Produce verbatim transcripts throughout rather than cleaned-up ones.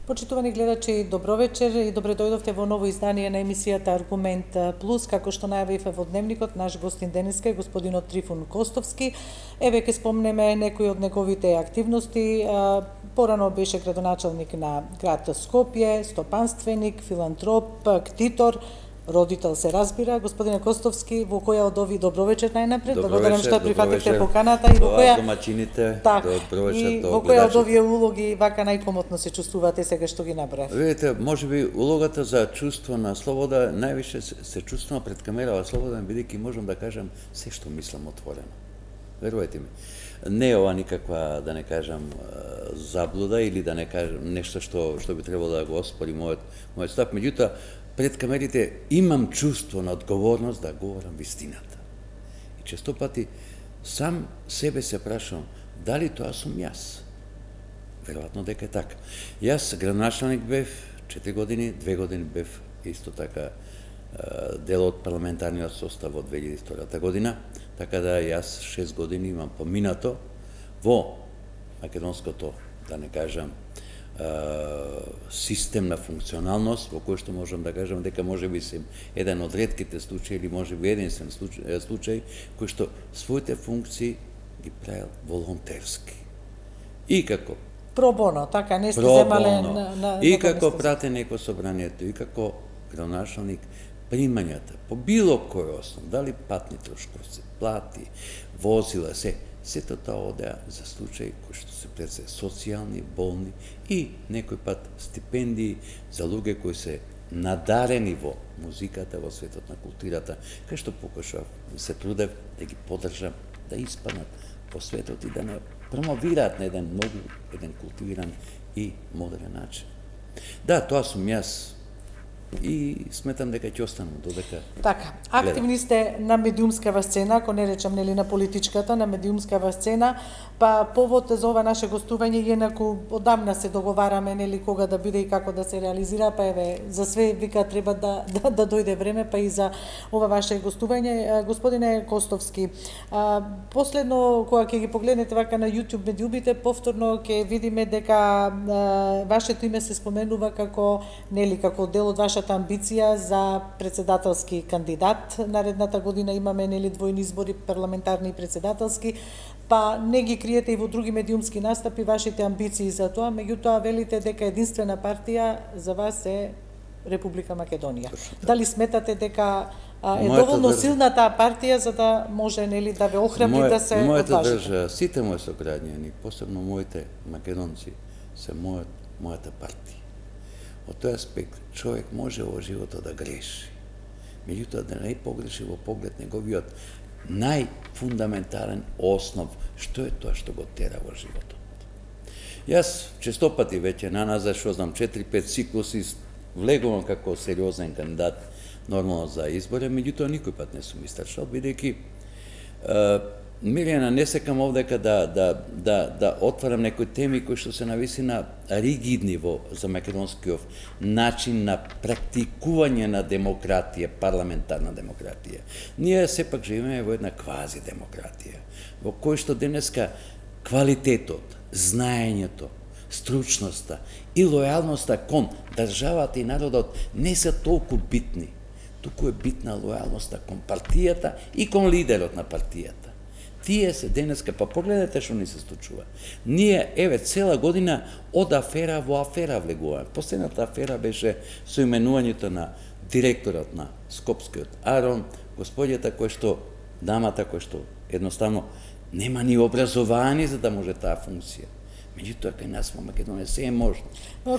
Почитувани гледачи, добро вечер и добре дојдовте во ново издание на емисијата Аргумент Плюс. Како што најавивме во дневникот, наш гостин денеска е господинот Трифун Костовски. Еве ќе спомнеме некои од неговите активности. Порано беше градоначалник на град Скопје, стопанственик, филантроп, ктитор, родител се разбира. Господине Костовски, во која од овие добро вечер најнапред? Благодарам што прифативте поканата и во која домаќините, так, добро вечер, и во која од овие улоги вака најкомотно се чувствувате сега што ги набрав? Видите, можеби улогата за чувство на слобода највише се, се чувствувам пред камерава слободен, бидејќи можам да кажам се што мислам отворено. Верувајте ми. Не е ова никаква, да не кажам, заблуда или да не кажам нешто што што би требало да го оспори мојот мојот став, меѓутоа пред камерите имам чувство на одговорност да говорам вистината. И често пати сам себе се прашувам дали тоа сум јас. Веројатно дека е така. Јас градоначалник бев четири години, две години бев исто така дел од парламентарниот состав од две илјади и втора година, така да јас шест години имам поминато во македонското, да не кажам, систем на функционалност, во кој што можам да кажам дека може би се еден од ретките случаи или може би единствен случај, случај кој што своите функции ги правил волонтерски. И како пробоно, така не сте земале на, на и како пратеник во собранието, и како градоначалник, примањата по било кој основ, дали патни трошкови, плати, возила се, сето тоа одеа за случаи кои што се пред се социјални, болни и некој пат стипендии за луѓе кои се надарени во музиката, во светот на културата, кај што покажав, се трудев да ги поддржам, да испаднат по светот и да не промовираат на еден многу, еден култивиран и модерен начин. Да, тоа сум јас и сметам дека ќе останам додека. Така, активни сте на медиумскава сцена, ако не речам нели на политичката, на медиумскава сцена, па повод за ова наше гостување инаку одамна се договараме нели кога да биде и како да се реализира, па еве за све вика треба да да, да дојде време, па и за ова ваше гостување. Господине Костовски, а, последно кога ќе ги погледнете вака на YouTube медиумите, повторно ќе видиме дека а, вашето име се споменува како нели како дел од вашата амбиција за председателски кандидат. Наредната година имаме нели двојни избори, парламентарни и председателски, па не ги криете и во други медиумски настапи вашите амбиции за тоа, меѓутоа велите дека единствена партија за вас е Република Македонија. Дали сметате дека а, е Мојата доволно држа... силна таа партија за да може нели да ве охрабри Мој, да се мојата одважите? Држа, сите мои сограѓани, посебно моите македонци, се мојот, мојата партија. Од тој аспект, човек може во животот да греши. Меѓутоа, да не погреши во поглед неговиот најфундаментален основ, што е тоа што го тера во животот. Јас често пати веќе наназад, што знам, четири-пет циклуси влегувам како сериозен кандидат нормално за избори, меѓутоа никој пат не сум истрчал, бидејќи Милијана, не секам овдека да, да, да, да отварам некои теми кои што се нависина ригидни во за македонскиот начин на практикување на демократија, парламентарна демократија. Ние сепак живееме во една квази демократија, во кој што денеска квалитетот, знаењето, стручноста и лојалноста кон државата и народот не се толку битни, туку е битна лојалноста кон партијата и кон лидерот на партијата. Тие се денеска, па погледнете што ни се случува. Ние, еве, цела година од афера во афера влегуваме. Последната афера беше со именувањето на директорот на Скопскиот Арон, господјата кој што, дамата кој што едноставно нема ни образование за да може таа функција. Меѓутоа, кај нас во Македонија се е можно.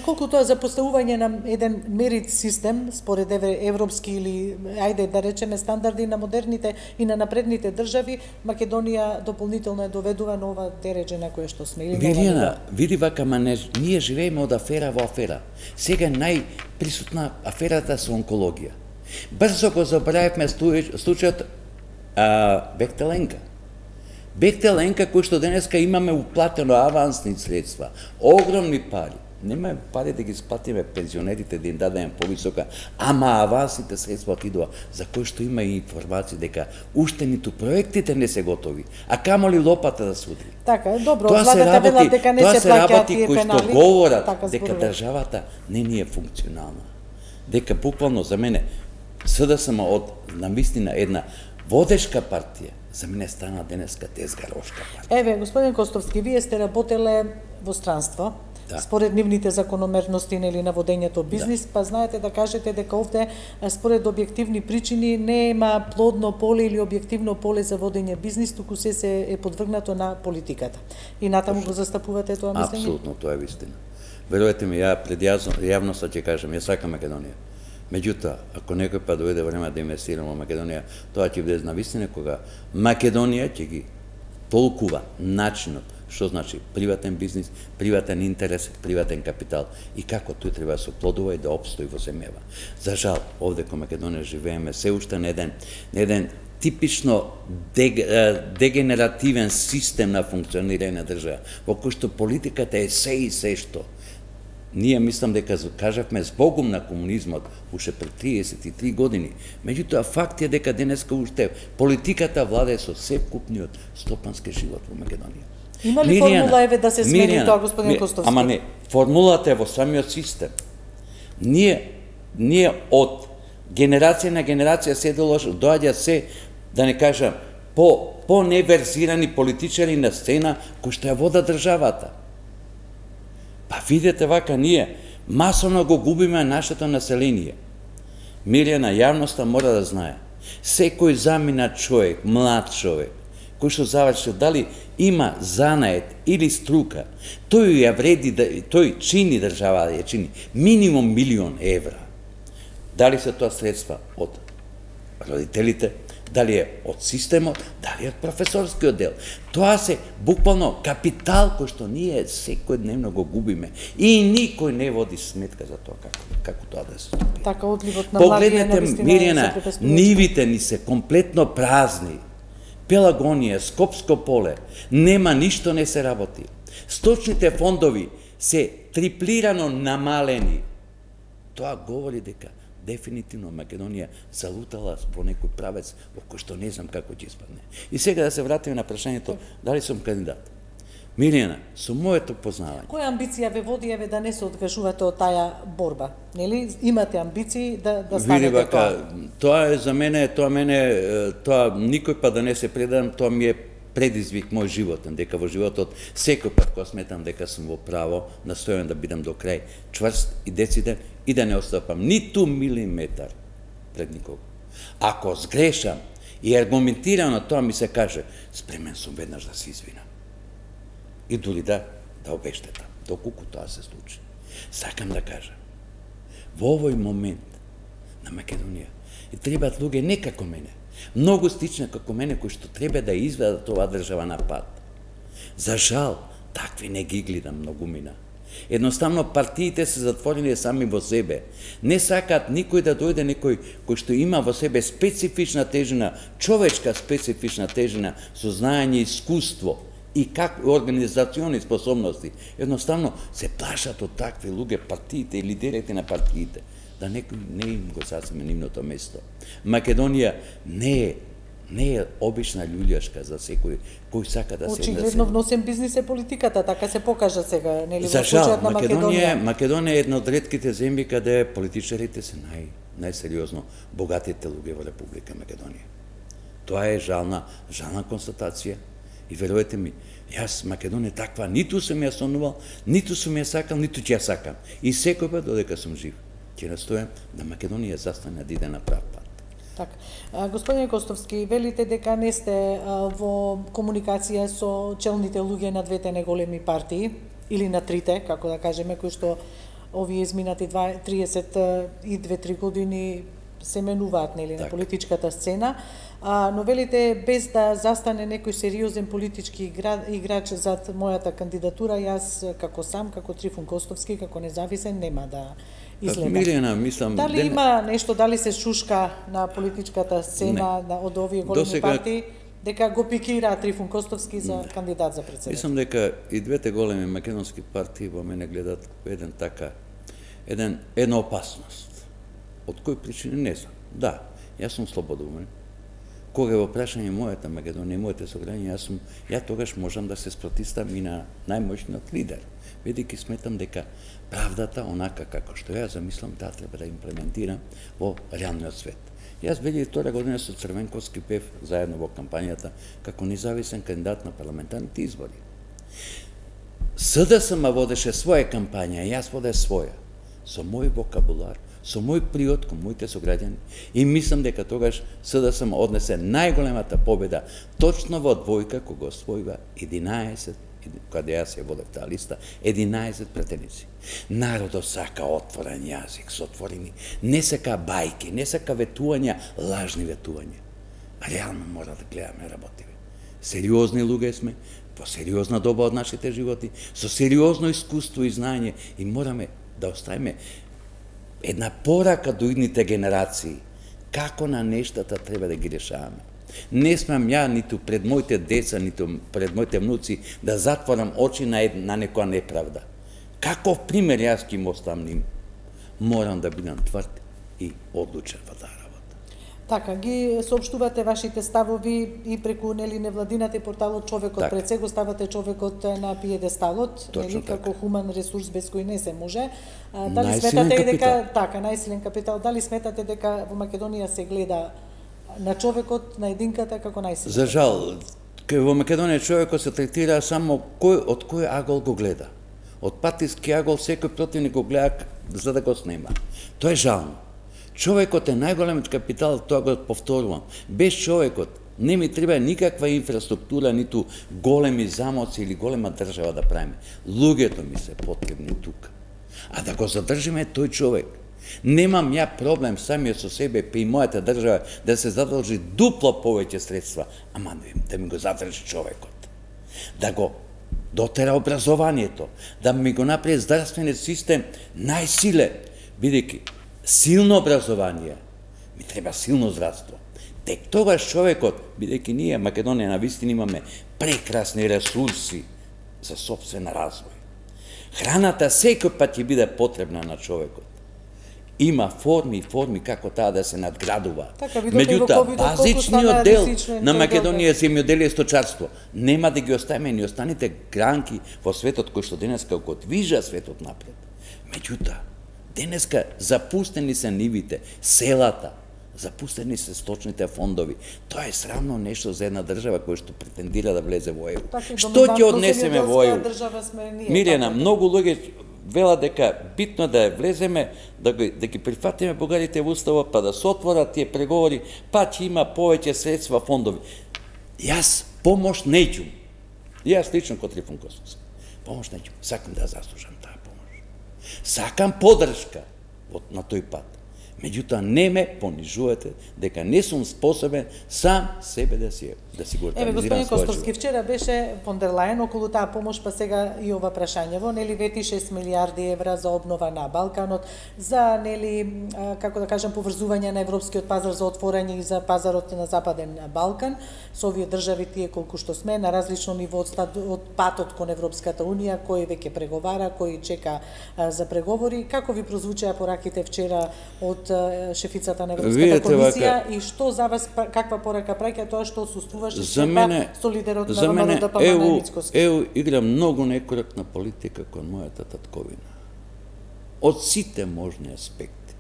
Колку тоа за поставување на еден мерит систем, според европски или, ајде да речеме, стандарди на модерните и на напредните држави, Македонија дополнително е доведува на ова дереđе на кое што сме. Милијана, види вака, ма не, ние живееме од афера во афера. Сега најприсутна аферата со онкологија. Брзо го забравивме случајот Бехтеленка. Бехтеленка, кој што денеска имаме уплатено авансни средства, огромни пари. Нема пари да ги сплатиме пензионерите, да им дадеме повисока, ама авансите средства отидува, за кои што има и информации дека уште ниту проектите не се готови, а камоли лопата да се удри. Така е, добро, Тоа се владата велат дека не се плаќаат тие кои пенали. што говорат така дека зборува. државата не ни е функционална. Дека буквално за мене СДСМ од навистина една водешка партија, за мене стана денеска тезгарошка партија. Еве, господин Костовски, вие сте работеле во странство. Да. Според нивните закономерности нели на водењето бизнис, да. Па знаете да кажете дека овде според објективни причини нема плодно поле или објективно поле за водење бизнис, туку се се е подвргнато на политиката. И натаму го застапувате тоа мислење? Апсолутно, тоа е вистина. Верувате ми, ја пред јавноста ќе кажам, ја сакам Македонија. Меѓутоа, ако некој па дојде време да инвестирам во Македонија, тоа ќе биде навистина кога Македонија ќе ги толкува начинот што значи приватен бизнис, приватен интерес, приватен капитал и како тој треба да се оплодува и да опстои во земјава. За жал, овде кога Македонија живееме се уште на еден, на еден типично дег, дегенеративен систем на функционирање на држава, во кој што политиката е се и се што. Ние мислам дека кажавме збогум на комунизмот уште пред триесет и три години. Меѓутоа факт е дека денеска уште политиката владее со секупниот стопански живот во Македонија. Има ли Миријана, формула еве да се смени Миријана, тоа, господин ми, Костовски? Ама не, формулата е во самиот систем. Ние ние од генерација на генерација се доаѓа се, да не кажам, по по неверзирани политичари на сцена кои што ја водат државата. Па видете вака, ние масовно го губиме нашето население. Миријана, јавноста мора да знае. Секој заминат човек, млад човек, кој што завршил, дали има занает или струка, тој ја вреди, тој чини држава да ја чини минимум милион евра. Дали се тоа средства од родителите, дали е од системот, дали е од професорскиот дел. Тоа се буквално капитал кој што ние секојдневно го губиме и никој не води сметка за тоа како, како тоа да се случи. Така одливот на млади е Погледнете, Миријана, нивите ни се комплетно празни. Пелагонија, Скопско поле, нема ништо не се работи. Сточните фондови се триплирано намалени. Тоа говори дека дефинитивно Македонија залутала во некој правец во кој што не знам како ќе испадне. И сега да се вратиме на прашањето дали сум кандидат. Миријана, со моето познавање. Која амбиција ве води еве да не се откажувате од таа борба? Нели имате амбиции да да станете вака, тоа? Тоа е за мене, тоа мене, тоа никој па да не се предам, тоа ми е предизвик мој животен, дека во животот секој пат кога сметам дека сум во право, настојам да бидам до крај чврст и дециден и да не отстапам ниту милиметар пред никого. Ако сгрешам и аргументирано тоа ми се каже, спремен сум веднаш да се извинам. И дури да, да обештетам, доколку тоа се случи. Сакам да кажам, во овој момент на Македонија и требаат луѓе не како мене, многу стични како мене, кои што треба да изведат оваа држава на пат. За жал, такви не ги гледам многумина. Едноставно партиите се затворени сами во себе. Не сакаат никој да дојде некој кој што има во себе специфична тежина, човечка специфична тежина, со знаење, искуство и как организациони способности. Едноставно се плашат од такви луѓе партиите и лидерите на партиите, да некој не им го сасиме нивното место. Македонија не е не е обична љуѓашка за секој кој сака да се Очигледно вносен бизнис е политиката, така се покажа сега, нели во За жал, случајот на Македонија, Македонија. Македонија е една од ретките земји каде политичарите се нај најсериозно богатите луѓе во Република Македонија. Тоа е жална, жална констатација и верувате ми, јас Македонија таква ниту сум ја сонувал, ниту сум ја сакал, ниту ќе ја сакам. И секој пат додека сум жив, ќе настојам да Македонија застане да иде на прав пат. Така. Господине Костовски, велите дека не сте а, во комуникација со челните луѓе на двете неголеми партии, или на трите, како да кажеме, кои што овие изминати триесет и две-три години се менуваат, нели, на политичката сцена, а, но велите без да застане некој сериозен политички играч зад мојата кандидатура, јас како сам, како Трифун Костовски, како независен, нема да изгледа. Милена, мислам... Дали ден... има нешто, дали се шушка на политичката сцена на, од овие големи Досега... партии, дека го пикира Трифун Костовски за да. кандидат за председател. Мислам дека и двете големи македонски партии во мене гледат еден така, еден, една опасност. Од кој причини не знам. Да, јас сум слободумен. Кога е во прашање мојата Македонија и моите сограѓани, јас сум, ја тогаш можам да се спротиставам и на најмоćниот лидер, бидејќи сметам дека правдата, онака како што ја замислам, таа треба да имплементирам во реалниот свет. Јас две илјади и втора година со Црвенковски пев заедно во кампањата како независен кандидат на парламентарните избори. СДСМ водеше своја кампања, јас воде своја, со мој вокабулар, со мој приот кон моите сограѓани, и мислам дека тогаш СДСМ однесе најголемата победа точно во двојка кога освојува единаесет, кога јас ја водев таа листа, единаесет претеници. Народот сака отворен јазик, со отворени, не сака бајки, не сака ветувања, лажни ветувања. Реално мора да гледаме работиви. Сериозни луѓе сме, по сериозна доба од нашите животи, со сериозно искуство и знање, и мораме да оставиме една порака до идните генерации, како на нештата треба да ги решаваме. Не смам ја ниту пред моите деца, ниту пред моите внуци да затворам очи на, на некоја неправда. Каков пример јас ќе им оставам ним? Морам да бидам тврд и одлучен во таа работа. Така, ги соопштувате вашите ставови и преку нели невладината и порталот Човекот так. пред се го ставате човекот на пиедесталот, нели како така. хуман ресурс без кој не се може. А, дали сметате дека така, најсилен капитал, дали сметате дека во Македонија се гледа на човекот, на единката како најсилен? За жал, кај во Македонија човекот се третира само кој од кој агол го гледа. Од партиски агол секој противник го гледа за да го снема. Тоа е жално. Човекот е најголемиот капитал, тоа го повторувам. Без човекот не ми треба никаква инфраструктура, ниту големи замоци или голема држава да правиме. Луѓето ми се потребни тука. А да го задржиме тој човек. Немам ја проблем самиот со себе па и мојата држава да се задржи дупло повеќе средства, ама да ми го задржи човекот. Да го дотера образованието, да ми го направи здравствениот систем најсилен, бидејќи силно образование, ми треба силно здравство. Тек тогаш човекот, бидејќи ние Македонија навистина имаме прекрасни ресурси за сопствен развој. Храната секој пат ќе биде потребна на човекот. Има форми и форми како таа да се надградува. Така, меѓутоа, базичниот дел на Македонија е земјоделие и сточарство. Нема да ги оставиме ни останите гранки во светот кој што денеска го движа светот напред. Меѓутоа, денеска запустени се нивите, селата, запустени се сточните фондови. Тоа е срамно нешто за една држава која што претендира да влезе во Е У. Што ќе однесеме во Е У? Мирена, многу луѓе вела дека битно е да влеземе, да ги, да ги прифатиме бугарите во уставот, па да се отворат тие преговори, па ќе има повеќе средства фондови. Јас помош неќум. Јас лично кон Трифун Костовски. Помош неќум. Сакам да заслужам таа помош. Сакам поддршка на тој пат. Меѓутоа не ме понижувате дека не сум способен сам себе да си да си го организирам. Еве, господин Костовски, вчера беше фон дер Лајен околу таа помош, па сега и ова прашањево, нели вети шест милијарди евра за обнова на Балканот, за нели како да кажам поврзување на европскиот пазар за отворање и за пазарот на Западен Балкан, со овие држави тие колку што сме на различно ниво од, од патот кон Европската унија, кој веќе преговара, кој чека а, за преговори. Како ви прозвучеа пораките вчера од шефицата на Европската комисија и што за вас, каква порака праќа тоа што осуствуваше шефа со лидерот на Романо Палама Мицкоски? Е У игра многу некоректна политика кон мојата татковина. Од сите можни аспекти.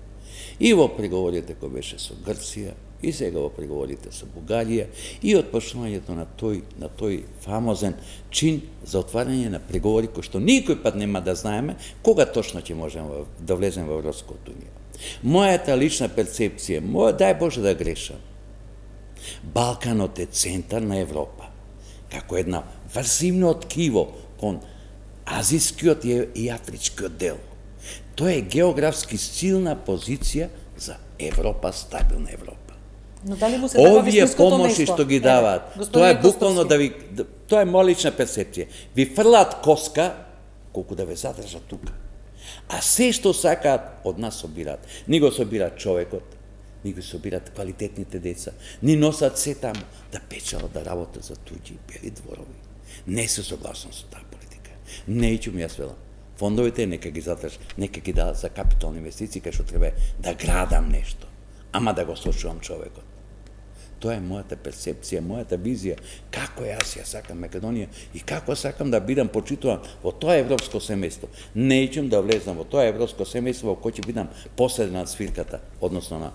И во преговорите кои беше со Грција, и сега во преговорите со Бугарија, и од почнувањето на тој на тој фамозен чин за отварање на преговори кои што никој пат нема да знаеме кога точно ќе можеме да влеземе во Европската унија. Мојата лична перцепција, моја, дај Боже да грешам, Балканот е центар на Европа, како една врзивно ткиво кон азискиот и афричкиот дел. Тоа е географски силна позиција за Европа, стабилна Европа. Но дали му се дава вистинското помоши место? Што ги даваат, тоа е буквално да ви, тоа е моја лична перцепција. Ви фрлаат коска колку да ве задржат тука. А се што сакаат од нас собираат. Ни го собираат човекот, ни ги собират квалитетните деца, ни носат се таму да печалат, да работат за туѓи бели дворови. Не се согласен со таа политика. Неќум јас велам. Фондовите нека ги затрж, нека ги дадат за капитални инвестиции, кај што треба да градам нешто, ама да го сочувам човекот. Тоа е мојата перцепција, мојата визија, како јас ја сакам Македонија и како сакам да бидам почитуван во тоа европско семејство. Неќум да влезнам во тоа европско семејство во кој ќе бидам посредна на свирката, односно на...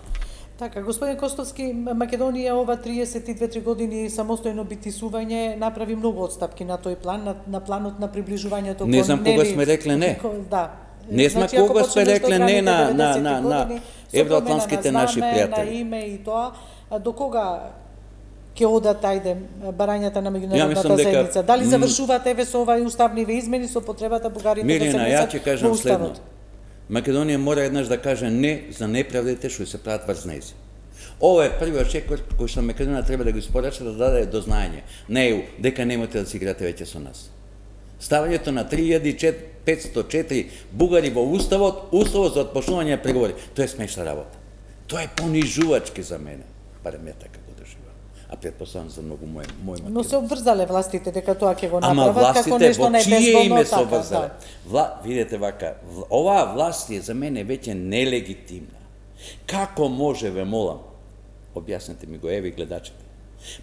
Така, господин Костовски, Македонија ова триесет и две години самостојно битисување направи многу отстапки на тој план, на, на планот на приближувањето. Не знам кога сме рекле не. Да. Не знам значи, кога сме рекле не на, на, на, на евроатлантските наши пријатели. На име и тоа, до кога ќе одат, ајде, барањата на меѓународната заедница? Дали завршуваат еве со овај уставниве измени со потребата бугарите да се внесат во уставот? Македонија мора еднаш да каже не за неправдите што се прават врз нејзи. Ова е првиот чек кој што Македонија треба да го испорача, да даде до знаење на Е У дека немате да си играте веќе со нас. Ставањето на три илјади петстотини и четири бугари во уставот, уставот за отпочнување на преговори, тоа е смешна работа. Тоа е понижувачки за мене, барем ја така го доживам. А претпоставам за многу мој мој Македонија. Но се обврзале властите дека тоа ќе го направат како нешто небезбедно така. Да. Вла... Видете вака, оваа власт е за мене веќе нелегитимна. Како може, ве молам, објаснете ми го, еви гледачите,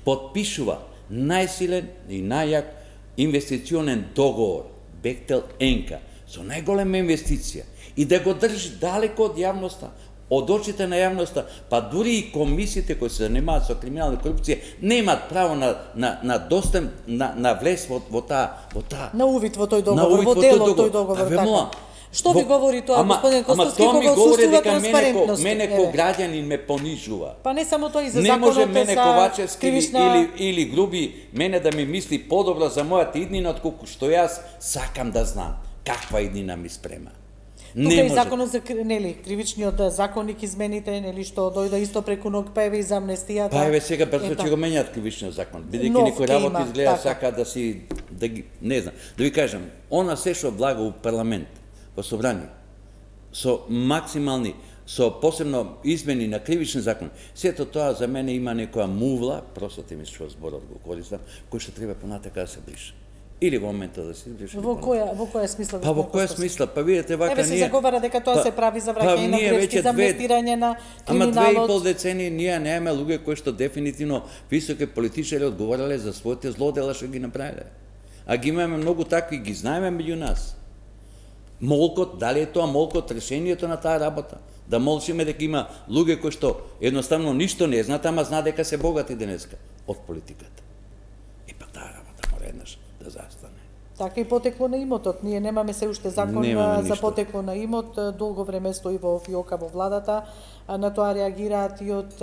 потпишува најсилен и најјак инвестиционен договор Бехтел Енка со најголема инвестиција и да го држи далеко од јавноста, од очите на јавноста, па дури и комисиите кои се занимаваат со криминална корупција немаат право на на на достъп на на влез во во таа во таа на увид во тој договор, во делот тој договор така. Што ви говори тоа, господин Костовски, кога отсуствува транспарентност? Мене ко граѓанин ме понижува. Па не само тоа, и за законот за кривишна... Не може мене Ковачевски или, или Груби мене да ми мисли подобро за мојата иднина, отколку што јас сакам да знам каква иднина ми спрема. Тука и законот за нели кривичниот законник измените, нели што дојде исто преку ног, па еве и за амнестијата. Па еве сега брзо ќе го менјат кривичниот закон, бидејќи некој работи изгледа сака да си да ги не знам. Да ви кажам, она се што влага у парламент, во собрание, со максимални, со посебно измени на кривични закон, сето тоа за мене има некоја мувла, простите ми што зборот го користам, кој што треба понатака да се брише. Или во моментот да се брише. Во која во која смисла? Па во која смисла? Па видите вака ние. Еве се заговара дека тоа па, се прави за враќање на грешки, за амнестирање на криминалот. Ама две и пол децени ние немаме луѓе кои што дефинитивно високи политичари одговарале за своите злодела што ги направиле. А ги имаме многу такви, ги знаеме меѓу нас. Молкот, дали е тоа молкот решението на таа работа? Да молчиме дека има луѓе кои што едноставно ништо не знаат, ама знаат дека се богати денеска од политиката. И па таа работа мора еднаш да застане. Така и потекло на имотот. Ние немаме се уште закон за потекло на имот. Долго време стои во фиока во владата. На тоа реагираат и од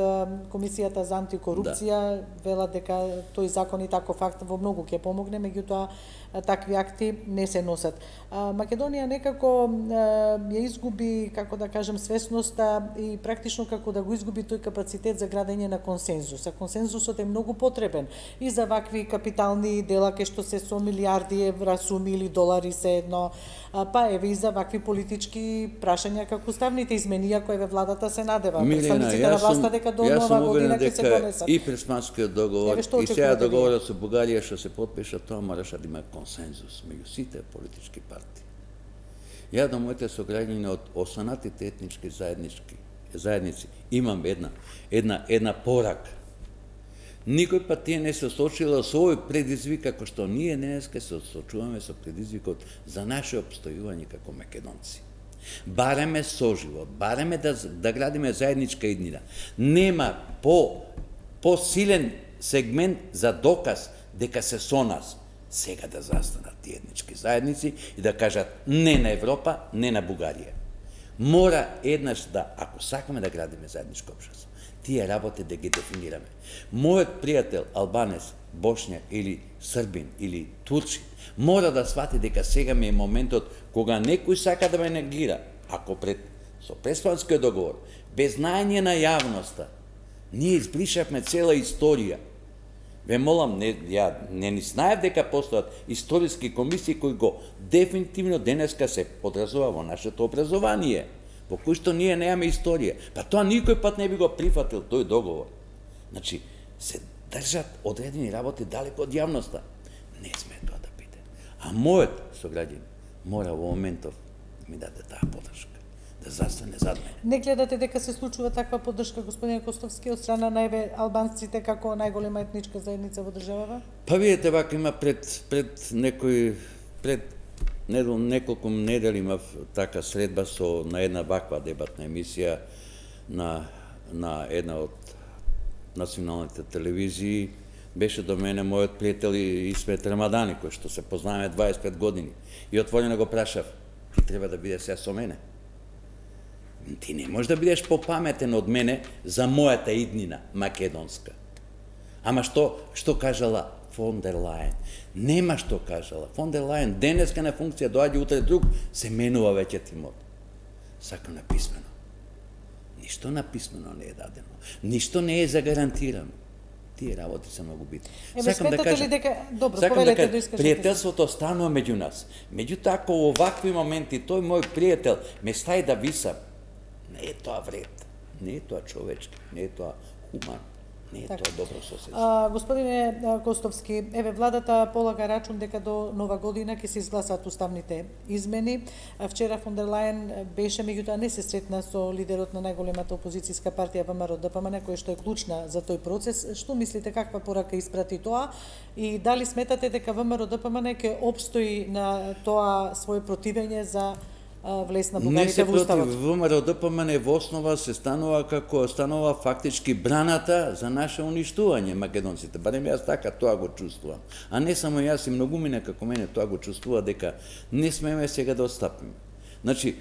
Комисијата за антикорупција. Да. Велат дека тој закон и таков акт во многу ќе помогне, меѓутоа такви акти не се носат. Македонија некако ја изгуби, како да кажем, свесноста и практично како да го изгуби тој капацитет за градење на консензус. А консензусот е многу потребен и за вакви капитални дела кај што се со милиарди евра, суми или долари се едно, па еве и за вакви политички прашања како уставните изменија кои еве владата се надева. Представниците на власта дека до нова година ќе се донесат. И Пресманскиот договор, и сега договорот со Бугарија што се потпиша, тоа мораше да има консензус меѓу сите политички партии. Ја до моите сограѓани од останатите етнички заеднички заедници имам една една една порака. Никој пат тие не се соочила со овој предизвик како што ние денеска се соочуваме со предизвикот за наше опстојување како македонци. Бареме соживот, бареме да да градиме заедничка иднина. Нема по посилен сегмент за доказ дека се со нас. Сега да застанат тие етнички заедници и да кажат не на Европа, не на Бугарија. Мора еднаш да, ако сакаме да градиме заедничко општество, тие работи да ги дефинираме. Мојот пријател албанец, бошњак или србин или турчин мора да свати дека сега ми е моментот кога некој сака да ме негира, ако пред со Преспанскиот договор, без знаење на јавноста, ние избришавме цела историја. Ве молам, не, ја не ни знаев дека постојат историски комисии кои го дефинитивно денеска се подразува во нашето образование. по кој што ние немаме историја. Па тоа никој пат не би го прифатил тој договор. Значи, се држат одредени работи далеко од јавноста. Не сме тоа да биде. А мојот сограѓан мора во моментов да ми даде таа подршка, да застане зад мене. Не гледате дека се случува таква поддршка, господин Костовски, од страна на еве албанците како најголема етничка заедница во државава? Па видите, вака има пред пред некој пред недел неколку недели имав така средба со на една ваква дебатна емисија на на една од националните телевизии. Беше до мене мојот пријател Исмет Рамадани, кој што се познаваме дваесет и пет години. И отворено го прашав: ти треба да бидеш се со мене. Ти не можеш да бидеш попаметен од мене за мојата иднина македонска. Ама што што кажала фон дер Лајен? Нема што кажала. Фон дер Лајен денеска на функција, доаѓа утре друг, се менува веќе тимот. Сакам написмено. Ништо написмено не е дадено. Ништо не е загарантирано. Тие работи се многу битни. Еве, сметате ли дека добро, сакам повелете да да искажете? Пријателството станува меѓу нас. Меѓутоа, ако во овакви моменти тој мој пријател ме стаи да висам, не е тоа вред, не е тоа човечки, не е тоа хуман, не е така. Тоа добро соседство. А, господине Костовски, еве владата полага рачун дека до нова година ќе се изгласат уставните измени. Вчера фон дер Лајен беше, меѓутоа не се сретна со лидерот на најголемата опозицијска партија ВМРО Д П М Н, која што е клучна за тој процес. Што мислите, каква порака испрати тоа и дали сметате дека ВМРО Д П М Н ќе опстои на тоа свое противење за влез на бугарите во уставот? Не се против. ВМРО Д П М Н во основа се станува како станува фактички браната за наше уништување македонците. Барем јас така тоа го чувствувам. А не само јас, и многумина како мене тоа го чувствува, дека не смееме сега да отстапиме. Значи,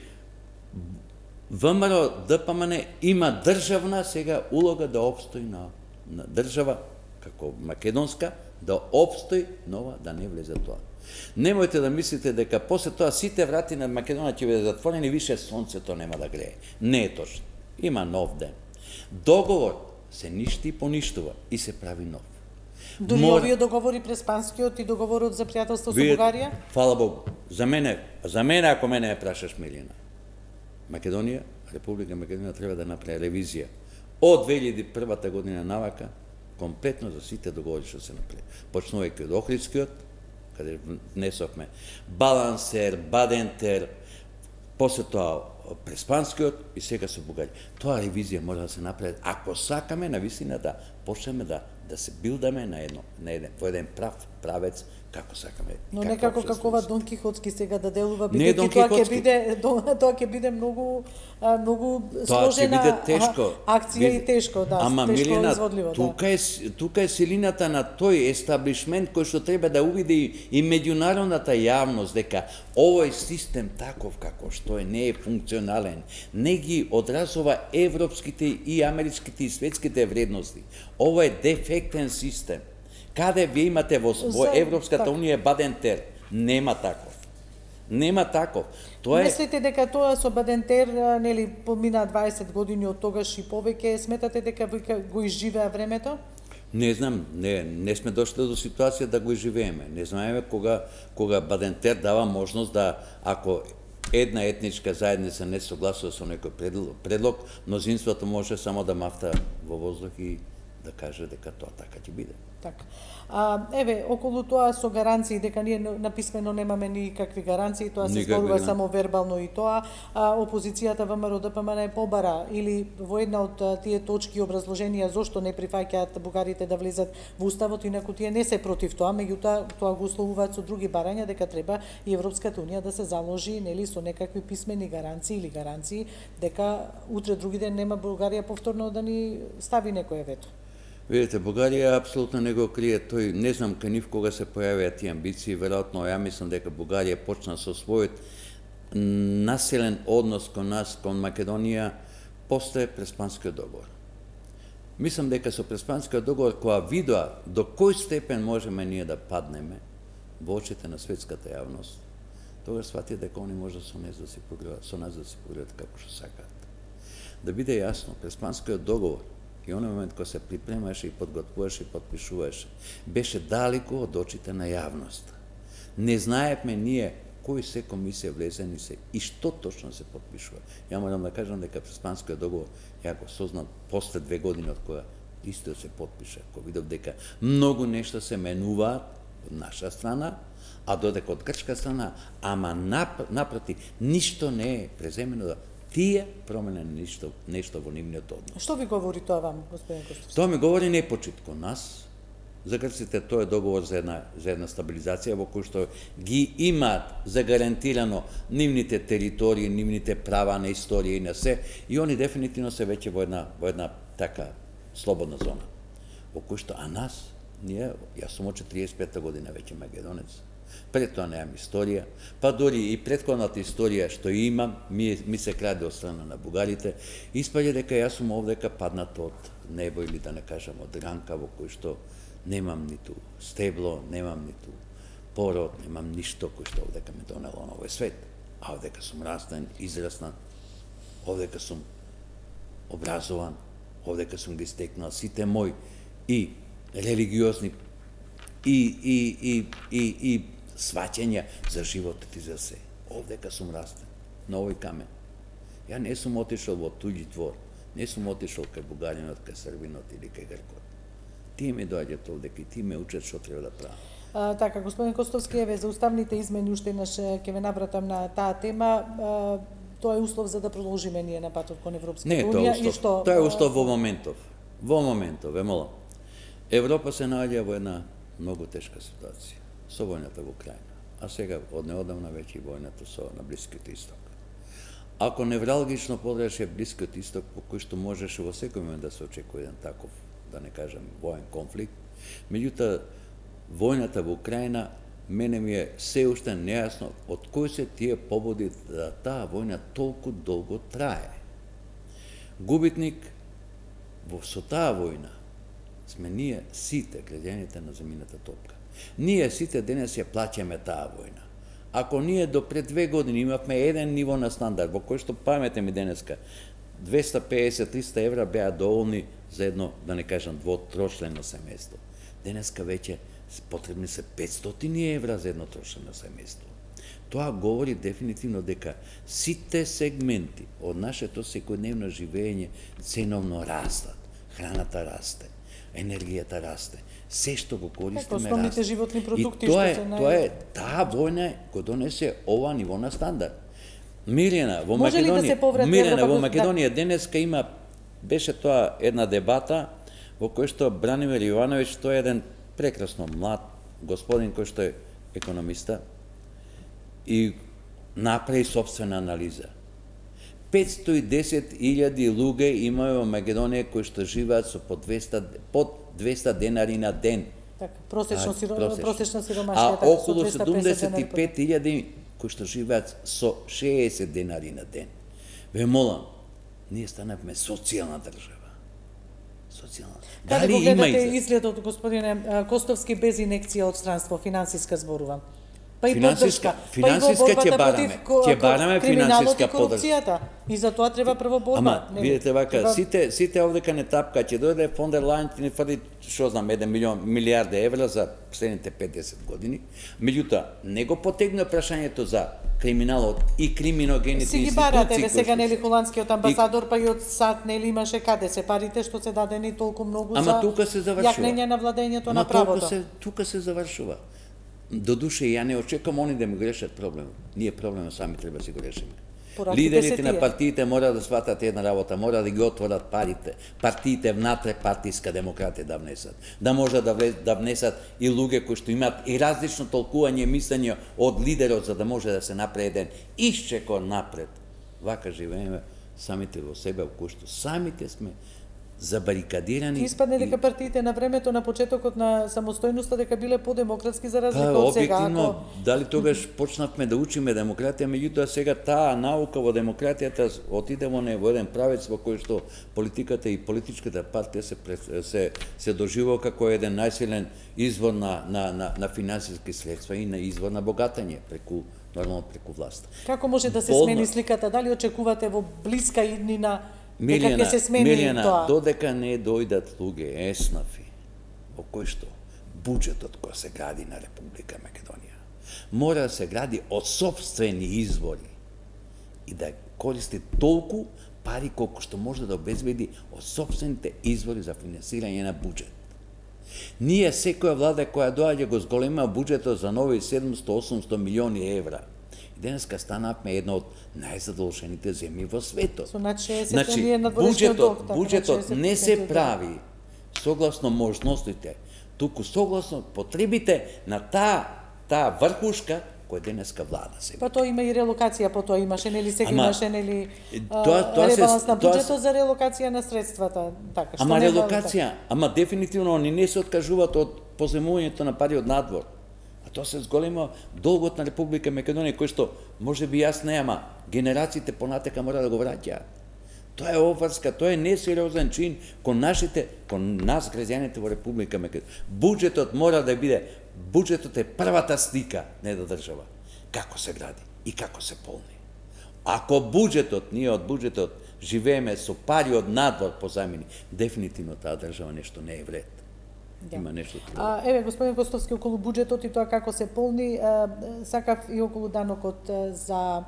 ВМРО Д П М Н има државна сега улога да обстои на, на држава како македонска, да обстои нова, да не влезе тоа. Немојте да мислите дека после тоа сите врати на Македонија ќе бидат затворени, више сонцето нема да грее. Не е точно. Има нов ден. Договор се ништи и поништува и се прави нов. Дури Мор... овие договори преспанскиот и договорот за пријателство со Бугарија? Фала Богу. За мене, за мене ако мене ме прашаш, Милина, Македонија, Република Македонија треба да направи ревизија од две илјади и прва година навака, комплетно за сите договори што се направи. Почнувајќи од Охридскиот, каде внесовме Балансер, Бадентер, после тоа Преспанскиот и сега со Бугарија. Тоа ревизија мора да се направи ако сакаме навистина да почнеме да да се билдаме на едно на еден во еден прав правец како сакаме. Но некако како ова Дон Кихотски сега да делува, бидејќи тоа ќе биде тоа ќе биде многу многу сложена акција и тешко, да, Ама, тешко Милина, изводливо, тука да. е тука е силината на тој естаблишмент кој што треба да увиди и меѓународната јавност дека овој систем таков како што е не е функционален, не ги одразува европските и америчките и светските вредности. Ова е дефектен систем. Каде вие имате во, во Европската унија Бадентер? Нема таков. Нема таков. Тоа е... Мислите дека тоа со Бадентер, нели, помина дваесет години од тогаш и повеќе, сметате дека го изживеа времето? Не знам, не, не сме дошли до ситуација да го изживееме. Не знаеме кога, кога Бадентер дава можност да, ако една етничка заедница не согласува со некој предлог, мнозинството може само да мафта во воздух и да каже дека тоа така ќе биде. Така. А, еве, околу тоа со гаранции, дека ние написмено немаме никакви гаранции, тоа се зборува само вербално и тоа, а, опозицијата ВМРО Д П М Н е побара или во една од тие точки образложенија зошто не прифаќаат бугарите да влезат во уставот, инаку тие не се против тоа, меѓутоа тоа го условуваат со други барања дека треба и Европската унија да се заложи, нели, со некакви писмени гаранции или гаранции дека утре други ден нема Бугарија повторно да ни стави некое вето. Видите, Бугарија апсолутно не го крие тој, не знам кај нив кога се појавија тие амбиции, веројатно ја мислам дека Бугарија почна со својот населен однос кон нас, кон Македонија, после Преспанскиот договор. Мислам дека со Преспанскиот договор, која видоа до кој степен можеме ние да паднеме во очите на светската јавност, тогаш сватија дека они може со нас да се погледат, со нас да се погледат како што сакаат. Да биде јасно, Преспанскиот договор и оној момент кога се припремаше и подготвуваше и подпишуваше, беше далеко од очите на јавност. Не знаевме ние кои се комисија влезени се и што точно се подпишува. Ја морам да кажам дека Преспанскиот договор ја го сознал после две години од која исто се подпиша, кој видов дека многу нешта се менуваат од наша страна, а додека од грчка страна, ама нап, напроти, ништо не е преземено да тие променени ништо, нешто во нивниот однос. Што ви говори тоа вам, господин Костовски? Тоа ми говори непочит кон нас. За грците тоа е договор за една, за една стабилизација во кој што ги имаат загарантирано нивните територии, нивните права на историја и на се, и они дефинитивно се веќе во една, во една така слободна зона. Во кој што, а нас, ние, јас сум од четириесет и пета година веќе македонец, пред тоа немам историја, па дори и претходната историја што имам, ми, ми се краде од страна на бугарите, испаѓа дека јас сум овдека паднат од небо или да не кажам од ранка во кој што немам ниту стебло, немам ниту пород, немам ништо кој што овдека ме донело на овој свет. А овдека сум растен, израснат, овдека сум образован, овдека сум ги стекнал сите мои и религиозни и, и, и, и, и сваќања за животот и за се. Овдека сум растен, на овој камен. Ја не сум отишол во туѓи двор, не сум отишол кај бугаринот, кај србинот или кај гркот. Тие ми доаѓаат овдека и тие ме учат што треба да правам. А, така, господин Костовски, еве за уставните измени уште еднаш ќе ве навратам на таа тема. А, тоа е услов за да продолжиме ние на патот кон Европската унија. Не, тоа е услов. Што, тоа е услов во моментов. Во моментов, ве молам. Европа се наоѓа во една многу тешка ситуација со војната во Украина, а сега од неодамна веќе и војната со на Блискиот исток. Ако невралгично подреше Блискиот исток, по кој што можеше во секој момент да се очекува еден таков, да не кажам, воен конфликт, меѓутоа војната во Украина мене ми е се уште нејасно од кои се тие побуди да таа војна толку долго трае. Губитник во со таа војна сме ние сите граѓаните на земјината топка. Ние сите денес ја плаќаме таа војна. Ако ние до пред две години имавме еден ниво на стандард, во кој што памете ми денеска, двеста песет до триста евра беа доволни за едно, да не кажам, двотрочлено семејство. Денеска веќе потребни се петстотини евра за едно трочлено семејство. Тоа говори дефинитивно дека сите сегменти од нашето секојдневно живење ценовно растат. Храната расте, енергијата расте, се што го користиме расте. Основните животни продукти и тоа е, што се нај... тоа е, таа војна го донесе ова ниво на стандард. Милена, во Може Македонија, да Милена, во Македонија денеска има, беше тоа една дебата во кој што Бранимир Јовановиќ, тој е еден прекрасно млад господин кој што е економиста и направи собствена анализа. петстотини и десет илјади луѓе имаат во Македонија кои што живеат со по двеста, под двеста денари на ден. Така, prosечно, а, сиро, prosечно. prosečna siromaštva А je tako, околу седумдесет и пет илјади кои што живеат со шеесет денари на ден. Ве молам, ние станавме социјална држава. Социјална. Дали го гледате изгледот, господине Костовски, без инекција од странство, финансиска зборува? Па и поддршка, финансиска ќе бараме, ќе бараме финансиска поддршка. И за тоа треба прво борба. Ама, видите вака, треба... сите сите овдека не тапка, ќе дојде фон дер Лајен и ни фрли, што знам, еден милион милијарди евра за следните петдесет години. Меѓутоа, не го потегна прашањето за криминалот и криминогените институции. Си ги барате, ве сега нели холандскиот амбасадор, па и од САД нели имаше каде се парите што се дадени толку многу Ама за тука се завршува. Јакнење на владењето Ама на правото. Се, тука се завршува. До душе, ја не очекувам они да ми го решат проблем. Ние проблемот сами треба да си го решиме. Лидерите на партиите мора да сватат една работа, мора да ги отворат парите, партиите внатре партиска демократија да внесат. Да може да, влез, да внесат и луѓе кои што имаат и различно толкување мислење од лидерот, за да може да се направи еден исчекор напред. Вака живееме самите во себе, во кој што самите сме забарикадирани. Испадне дека партиите на времето на почетокот на самостојноста дека биле подемократски за разлика па, од сега. Објективно, ако... дали тогаш почнавме да учиме демократија, меѓутоа сега таа наука во демократијата отиде во не во еден правец во кој што политиката и политичката партија се се се доживува како еден најсилен извор на на на, на финансиски средства и на извор на богатање преку нормално преку власт. Како може да се Болно... смени сликата? Дали очекувате во блиска иднина Милена, дека ќе се смени Милена, тоа? Додека не дојдат луѓе еснафи, во кој што буџетот кој се гради на Република Македонија, Мора да се гради од собствени извори и да користи толку пари колку што може да обезбеди од собствените извори за финансирање на буџет. Ние секоја влада која доаѓа го зголема буџетот за нови седумсто до осумсто милиони евра. И денеска станавме една од најзадолжените земји во светот. Значи, значи буџетот, буџетот не се прави согласно можностите, туку согласно потребите на таа таа врхушка која денеска влада се. Па тоа има и релокација, по тоа имаше, нели сега Ама, имаше, нели, тоа- тоа се- ребаланс на тоа се- буџетот за релокација на средствата, така, што Ама нема- релокација, ама дефинитивно они не се откажуваат од поземувањето на пари од надвор. А тоа се зголема долгот на Република Македонија, кој што може би јас не, ама генерациите понатека мора да го враќаат. Тоа е обврска, тоа е несериозен чин кон нашите, кон нас граѓаните во Република Македонија. Буџетот мора да биде, буџетот е првата слика на една држава. Како се гради и како се полни. Ако буџетот, ние од буџетот живееме со пари од надвор позајмени, дефинитивно таа држава нешто не е вред. Да. Има нешто друго. А, еве, господин Костовски, околу буџетот и тоа како се полни, а, сакав и околу данокот а, за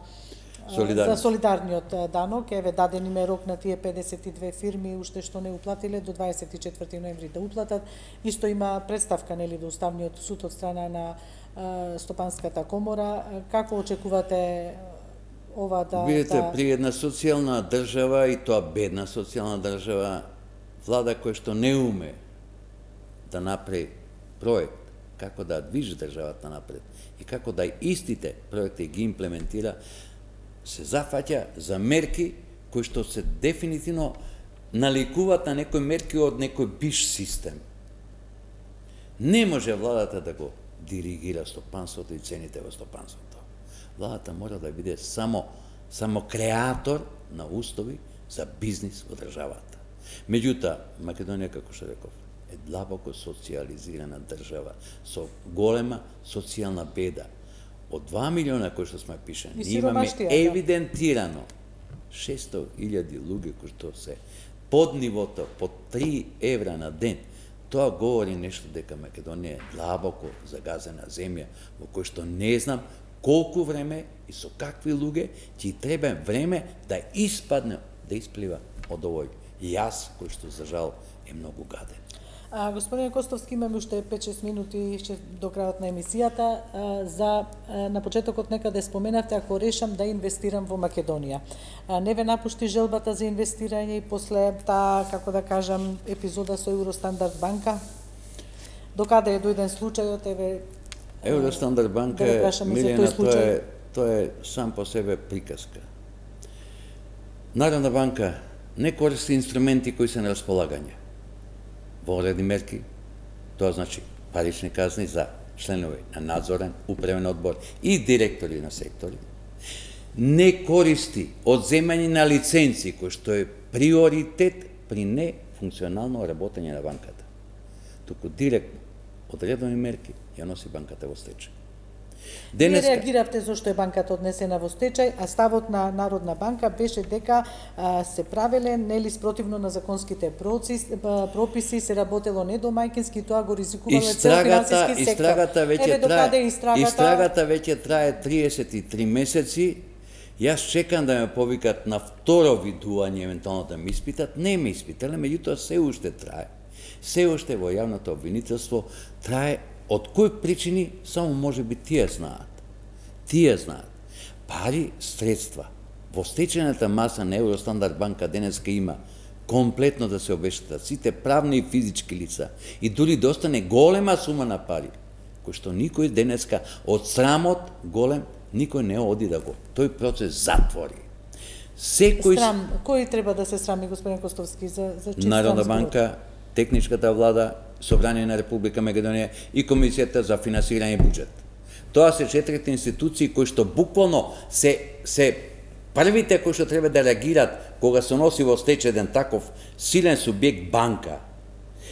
а, Солидарност. за солидарниот а, данок, еве даден им е рок на тие педесет и две фирми уште што не уплатиле до дваесет и четврти ноември да уплатат. Исто има представка нели во Уставниот суд од страна на а, Стопанската комора. А, Како очекувате ова да Видите, да... при една социјална држава, и тоа бедна социјална држава, влада која што не уме да направи проект како да движи државата напред и како да истите проекти ги имплементира, се зафаќа за мерки кои што се дефинитивно наликуваат на некои мерки од некој биш систем. Не може владата да го диригира стопанството и цените во стопанството. Владата мора да биде само само креатор на устови за бизнис во државата. Меѓутоа, Македонија, како што реков, е длабоко социјализирана држава со голема социјална беда. Од два милиона кои што сме пишани, И ние имаме сиромаштија, да. евидентирано шесто илјади луѓе кои што се под нивото, под три евра на ден. Тоа говори нешто дека Македонија е длабоко загазена земја, во кој што не знам колку време и со какви луѓе ќе треба време да испадне, да исплива од овој јас кој што за жал е многу гаден. А, господин Костовски, имаме уште пет-шест минути ще до крајот на емисијата. А, за а, на почетокот некаде споменавте ако решам да инвестирам во Македонија. А, не ве напушти желбата за инвестирање и после таа, како да кажам, епизода со Евростандард банка? Докаде е дојден случајот, еве Евростандард банка, да е, прашаме за Милена, тој случај. тоа е, тоа е сам по себе приказка. Народна банка не користи инструменти кои се на располагање. Во одредни мерки, тоа значи парични казни за членови на надзорен, управен одбор и директори на сектори, не користи одземање на лиценци, кој што е приоритет при нефункционално работење на банката. Туку директно, одредени мерки, ја носи банката во стечај. Не реагиравте зашто е банката однесена во стечај, а ставот на Народна банка беше дека а, се правеле нели спротивно на законските процес, а, прописи, се работело недомајкински, тоа го ризикувало цел финансиски сектор. Истрагата веќе Еве докаде трае, истрагата? истрагата веќе трае триесет и три месеци. Јас чекам да ме повикат на второ видување, евентуално да ме испитат. Не ме испитале, меѓутоа се уште трае. Се уште во јавното обвинителство трае. Од кои причини, само може би тие знаат. Тие знаат. Пари, средства. Во стечената маса на Евростандард банка денеска има комплетно да се обештетат сите правни и физички лица и дури да остане голема сума на пари, кој што никој денеска од срамот голем, никој не оди да го тој процес затвори. Секој Срам, кој треба да се срами, господин Костовски, за, за чист Народна срам збор? банка, техничката влада, Собрание на Република Македонија и Комисијата за финансирање буџет. Тоа се четирите институции кои што буквално се се првите кои што треба да реагираат кога се носи во стечајен таков силен субјект банка.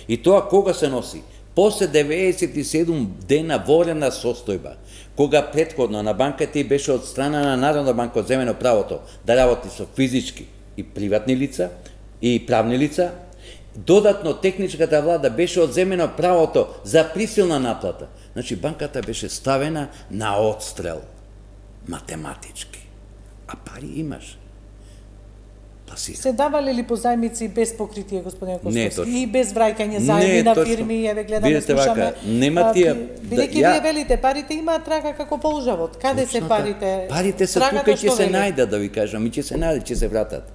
И тоа кога се носи? После деветдесет и седум дена ворена состојба, кога претходно на банката и беше од страна на Народна банка одземено правото да работи со физички и приватни лица и правни лица, додатно техничката влада беше одземено правото за присилна наплата. Значи, банката беше ставена на отстрел, математички. А пари имаш. Пласира. Се давале ли позајмици без покритие, господин Костовски? Не, и без враќање заеми на фирми, еве гледаме, видите, слушаме. Вака, нема тие... Бидејќи да, вие велите, парите имаат трага како полжавот. Каде се парите? Парите се тука и ќе се најдат, да ви кажам, и ќе се најдат, ќе се вратат.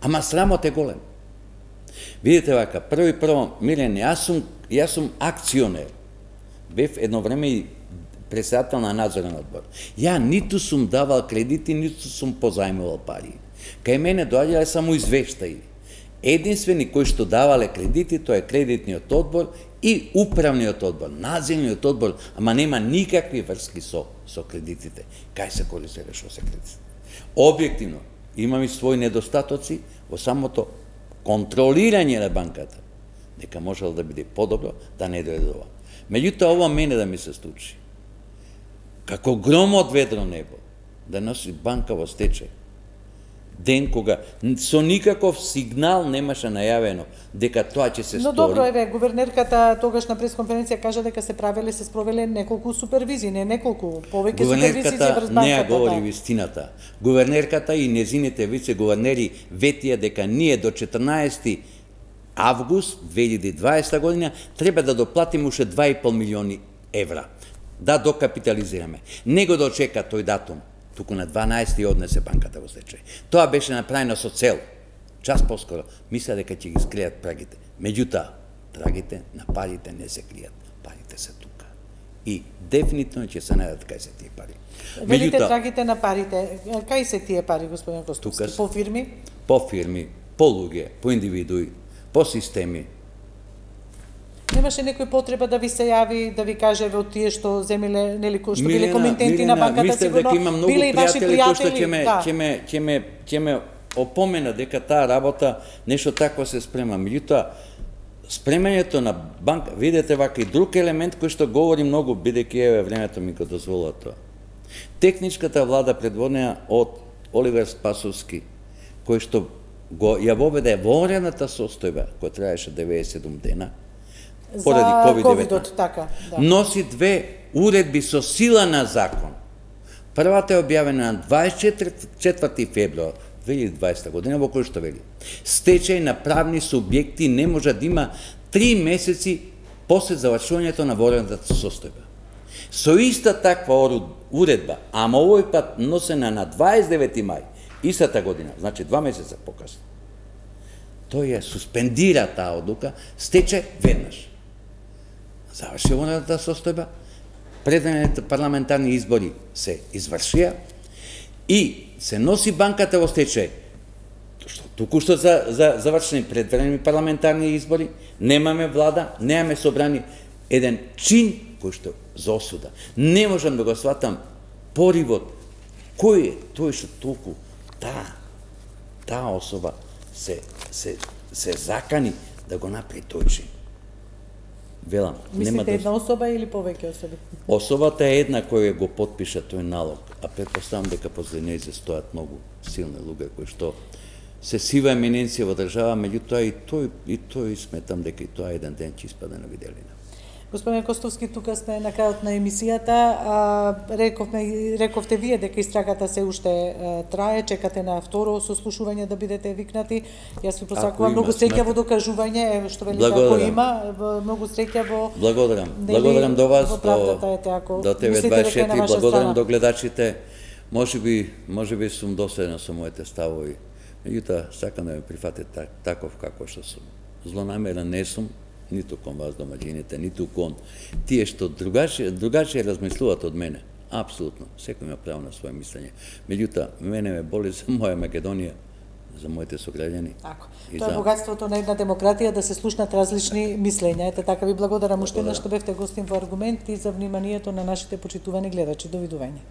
Ама срамот е голем. Видите вака, прво и прво, Милен, јас сум, јас сум акционер. Бев едно време и председател на надзорен одбор. Ја ниту сум давал кредити, ниту сум позајмувал пари. Кај мене доаѓале само извештаи. Единствени кои што давале кредити, тоа е кредитниот одбор и управниот одбор, надзорниот одбор, ама нема никакви врски со со кредитите. Кај се користеле што се кредити? Објективно, имам и своји недостатоци во самото контролирање на банката. Дека можело да биде подобро, да не дојде ова. Меѓутоа, ова мене да ми се случи. Како гром од ведро небо, да носи банка во стечај. Ден кога со никаков сигнал немаше најавено дека тоа ќе се Но стори. добро, еве, гувернерката тогаш на пресконференција кажа дека се правеле, се спровеле неколку супервизии, не неколку, повеќе супервизии врз банката. Гувернерката не ја говори вистината. Гувернерката и незините вице-гувернери ветија дека ние до четрнаесети август две илјади и дваесета година треба да доплатиме уште два и пол милиони евра. Да докапитализираме. Не го дочека тој датум. Туку на дванаесети однесе банката во стечај. Тоа беше направено со цел. Час поскоро мисля дека ќе ги скријат прагите. Меѓутоа, трагите на парите не се кријат. Парите се тука. И дефинитивно ќе се најдат кај се тие пари. Велите трагите на парите. Кај се тие пари, господин Костовски? По фирми? По фирми, по луѓе, по индивидуи, по системи. Немаше некој потреба да ви се јави, да ви каже од тие што земеле, нели, кои што биле комитенти на банката, сигурно биле и ваши пријатели, ќе ме ќе ме ќе ме ќе ме опомена дека таа работа нешто такво се спрема. Меѓутоа, спремањето на банка, видете вака и друг елемент кој што говори многу, бидејќи еве времето ми го дозволува тоа. Техничката влада предводена од Оливер Спасовски, кој што го ја воведе ворената состојба која траеше деветдесет и седум дена, поради ковид-деветнаесет, така, да. Носи две уредби со сила на закон. Првата е објавена на дваесет и четврти февруар две илјади и дваесета година, во кој што вели: стечај на правни субјекти не може да има три месеци после завршувањето на ворената состојба. Со иста таква уредба, ама овој пат носена на дваесет и девети мај истата година, значи два месеца покасно, тој ја суспендира таа одлука, стече веднаш. Заврши ворената состојба, предвидените парламентарни избори се извршија и се носи банката во стечај. Што туку што за, за завршени предвидени парламентарни избори, немаме влада, немаме собрани, еден чин кој што за осуда. Не можам да го сватам поривот кој е тој што толку таа таа особа се се се закани да го направи тој чин. Велам, мислите да... една особа или повеќе особи? Особата е една која го потпиша тој налог, а претпоставам дека после нејзе стојат многу силни луѓе кои што се сива еминенција во држава, меѓутоа и тој и тој сметам дека и тоа еден ден ќе испаде на виделина. Господин Костовски, тука сме на крајот на емисијата. А, рековме, рековте вие дека истрагата се уште а, трае, чекате на второ сослушување да бидете викнати. Јас ви посакувам многу среќа во докажување, еве што велите ако има, многу среќа во... Благодарам. Благодарам до вас, до, до Т В дваесет и четири, благодарам до гледачите. Може би, може би сум доседен со моите ставови. Меѓутоа, сакам да ме прифатите таков како што сум. Злонамерен не сум, ниту кон вас домаќините, ниту кон тие што другаче, другаче размислуваат од мене. Апсолутно, секој има право на своје мислење. Меѓутоа, мене ме боли за моја Македонија, за моите сограѓани. Така. Тоа е богатството на една демократија, да се слушнат различни мислења. Ете така ви благодарам уште еднаш што бевте гостин во Аргумент и за вниманието на нашите почитувани гледачи. Довидување.